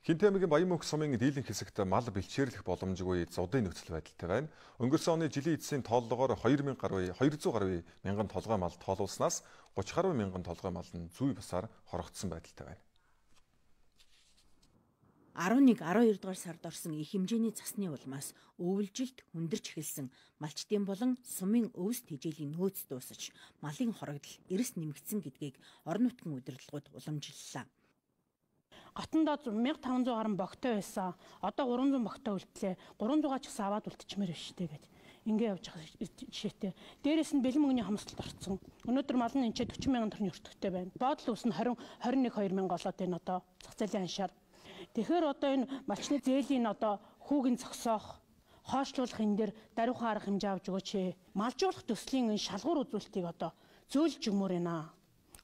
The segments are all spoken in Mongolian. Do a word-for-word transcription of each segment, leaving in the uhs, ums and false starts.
Хинтээ аймгийн Баян-Мөнх сумын дийлэнх хэсэгт мал бэлчээрлэх боломжгүй зодын нөхцөл байдалтай байна. Өнгөрсөн оны жилийн эцсийн тооллогоор хоёр мянга гаруй хоёр зуун гаруй мянган толгой мал тоолуулснаас гуч гаруй мянган толгой мал нь зүй басаар хорогдсон байдалтай байна. арван нэг арван хоёр дугаар сард орсон их хэмжээний засны улмаас өвөлжилт хүндэрч эхэлсэн малчтын болон сумын өвс тэжээлийн нөөц дуусаж малын хорогдол эрс нэмэгдсэн гэдгийг орон нутгийн удирдлагууд уламжлалаа. Гатандаа мянга таван зуун гаруй богтой байсан. Одоо гурван зуун богтой үлдлээ. гурван зуун ч гэсэн аваад үлдчихмээр байна шүү дээ гэж. Ингээ явж байгаа жишээтэй. Дээрээс нь бэлэн мөнгөний хамсалт орцсон. Өнөөдөр мал нь энэ forty мянган төгрөгийн өртөгтэй байна. Боодол ус нь twenty twenty one two мянга болоод байна одоо зах зээлийн аншаар. Тэгэхээр одоо энэ малчны зээлийн одоо хүүгийн зогсоох, хоошлуулах энэ дээр даруйхан арга хэмжээ авч өгөөч. Малжуулах төслийн энэ шалгуур үзүүлэлтийг одоо зөөлж өгмөр байна.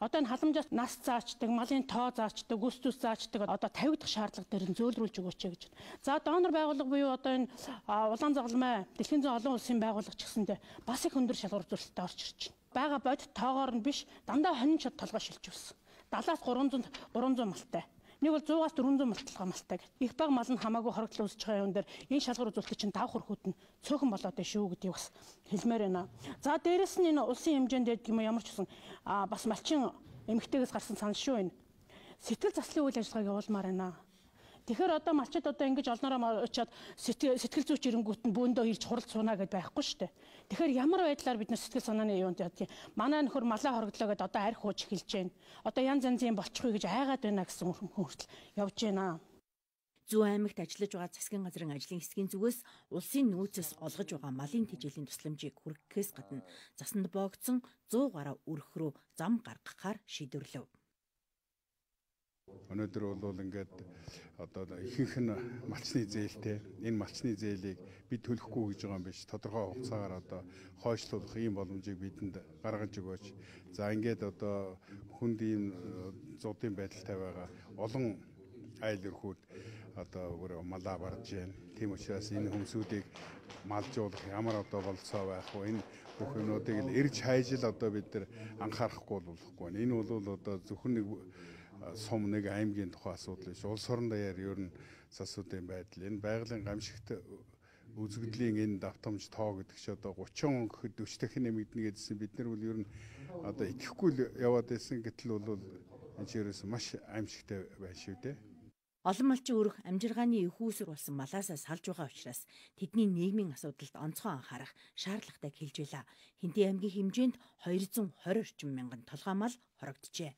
Одоо энэ халамжаас нас заачдаг, малын тоо заачдаг, үс зүс заачдаг одоо fifty дахь шаардлага дээр нь зөөлрүүлж өгөөч гэж. За донор байгууллага буюу одоо энэ улаан загалмай дэлхийн зүүн олон улсын байгууллага ч гэсэндээ бас их өндөр шалгуур үзүүлэлттэй орж ирж байна. Бага бодит тоогоор нь биш дандаа хонин чад толгой шилж өссөн. seventy-аас three hundred малтай. Нэг бол one hundred-аас four hundred малталгаа малтай гэх. Их баг мал нь хамаагүй хорогдлол үүсэж байгаа юм дээр энэ шалгуур үзүүлэлт чинь давх хөрхүүд нь цөөхөн болоод байна шүү гэдгийг бас хэлмээр байна. За дээрэс нь энэ улсын хэмжээнд юм ямар ч гэсэн бас малчин эмэгтэйгээс гарсан санал шүү энэ. Сэтгэл заслын үйл ажиллагааг явуулмаар байна. Тэгэхээр одоо малчид одоо ингэж олноороо очиад сэтгэл зүйч ирэнгүүт нь бөөндөө ирж хурал цуунаа гэдээ байхгүй шүү дээ. Тэгэхээр ямар байдлаар бид нар сэтгэл санааны юунд ядгийг манай нөхөр малаа хорогдлоо гэдээ одоо арх хууж эхэлж байна. Одоо янз янзын болчихгүй гэж айгаад байна гэсэн хүртэл явж байна. Зүүн аймагт ажиллаж байгаа засгийн газрын ажлын хэсгийн зүгээс улсын нөөцөөс олгож байгаа малын тэжээлийн тусламжийг хүргэхээс гадна засанд боогдсон one hundred гаруй өрх рүү зам гаргахаар шийдвэрлэв. Өнөөдөр бол ингээд одоо ихэнх нь малчны зээлтэй энэ малчны зээлийг бид төлөхгүй гэж байгаа юм биш. Тодорхой хугацаагаар одоо хойшлуулах ийм боломжийг бидэнд гаргаж өгөөч. За ингээд одоо хүнд ийм зуудын байдалтай байгаа олон айл өрхүүд одоо өөр малаа барж байна. Тийм учраас энэ хүмүүсүүдийг малжуулах ямар одоо болцоо байх вэ? Энэ бүх юмнуудыг л эрж хайжил одоо бид нар анхаарахгүй болохгүй. Энэ бол одоо зөвхөн нэг сум нэг аймгийн тухай асуудал биш. Улс орон даяар ер нь засуудын байдал. Энэ байгалийн гамшигт үзэгдлийн энэ давтамж тоо гэдэг чи одоо thirty он гэхэд forty дахин нэмэгдэнэ гэдсэн бид нар бол ер нь одоо итгэхгүй яваад байсан гэтэл бол энэ чирээс маш аимшигтай байна шүү дээ. Олон малчин өрх амжиргааны их үүсвэр болсон малаасаа салж байгаа учраас тэдний нийгмийн асуудалд онцгой анхаарах шаардлагатай хэлж байла. Хинтээ аймгийн хэмжээнд two hundred twenty орчим мянган толгой мал хорогджээ.